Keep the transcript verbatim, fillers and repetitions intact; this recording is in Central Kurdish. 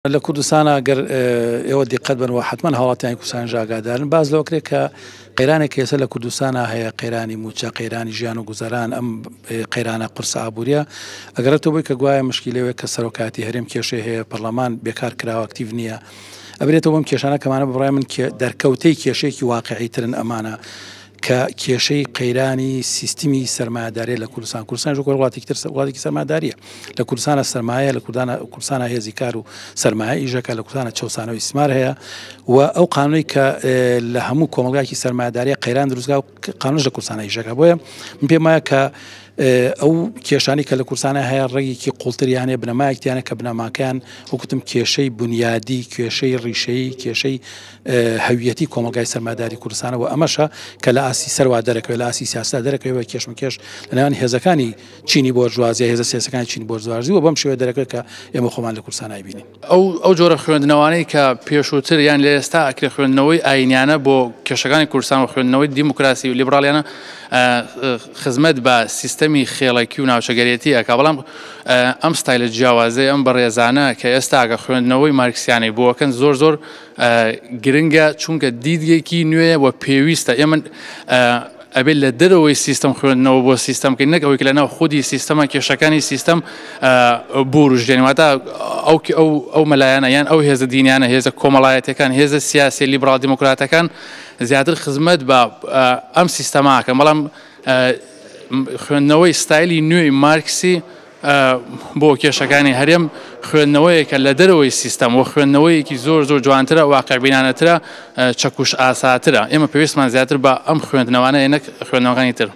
لە کوردستانە گەر ئێوە دیقەت بن و حتمما هاوڵاتیانی کوردستان ئاگادارن، باز لەوە کرێت کە قەیرانێک ئێستا لە کوردستانە هەیە، قەیرانی موچە، قەیرانی ژیان و گوزەران، ئەم قەیرانە قورسە ئابووریە ئەگەرێتەوە بۆی کە گوایە مشکیلەوەیە کە سەرۆکاتی هەرێم کێشەی هەیە، پەرلەمان بێکار کراوە، ئەکتیڤ نییە. ئەبرێتەوە بەم کێشانە کەمانە بڕای من دەرکەوتەی کێشەیەکی واقعی ترن ئەمانە کە کێشەی قەیرانی سیستمی سەرمایەداریە لە کوردستان. کوردستان وەکو وڵاتێکی تر وڵاتێکی سەرمایەداریە. لە کوردستانە سەرمایە، لە کوردستانە هێزی کار و سەرمایە ئیشەکە، لە کوردستانە چەوسانەوەی ئیستیسمار هەیە و ئەو قانونەی کە لە هەموو کۆمەڵگایەکی سەرمایەداریە قەیران دروستکا و قانونش لە کوردستانە ئیشەکە. بۆیە من پێم وایە کە ئەو کێشانی کە لە کوردستانە هەیە ڕێگێکی قوڵتریانەیە، بنەمایەکیانە کە بنەماکەیان وەکوتم کێشەی بنیادی، کێشەی ڕیشەیی، کێشەی هەویەتی کۆمەڵگای سەرمایەداری کوردستانە و ئەمەشە کە لە ئاستی سەروا دەرەکەوێت، لە ئاستی سیاسەتا دەرەکەوێت بە کێشمەکێش لە نێوان هێزەکانی چینی بۆرژوازی، هێزە سیاسەکانی چینی بۆرژوازی و بەم شێوەیە دەرەکەوێت کە ئێمە خۆمان لە کوردستان نایبینین. ئەو ئەو جۆرە خوێندنەوانەی کە پێشووتر یان لە ئێستا ئەکرێ خوێندنەوەی ئاینیانە بۆ کێشەکانی کوردستان و خوێندنەوەی دیموکراسی و لیبرالیانە خزمەت بە سیستەمی خێڵەکی و ناوچەگەرێتی ئەکا، بەڵام ئەم ستایلە جیاوازەی ئەم بەڕێزانە کە ئێستا کە خوێندنەوەی مارکسیانەی بۆکەن زۆر زۆر گرنگە، چونکە دیدێکی نوێ و پێویستە ئێمە ئەبێت لە دەرەوەی سیستەم خوێندنەوە بۆ سیستەم بکەین، نەک ئەوەی کە لەناو خودی سیستەمە کێشەکانی سیستەم بوروژێنین. واتە ئەو ئەو مەلایانە یان ئەو هێزە دینیانە، هێزە کۆمەڵایەتەکان، هێزە سیاسی لیبرال دیموکراتەکان زیاتر خزمەت بە ئەم سیستەماکەن، بەڵام خوێندنەوەی ستایلی نوێی مارکسی بۆ کێشەکانی هەرێم خوێندنەوەیەکە لە دەرەوەی سیستەم و خوێندنەوەیەکی زۆر زۆر جوانترە، واقعبینانەترە، چەکوش ئاساترە. ئێمە پێویستمان زیاتر بە ئەم خوێندنەوانە نەک خوێندنەوەکانی تر.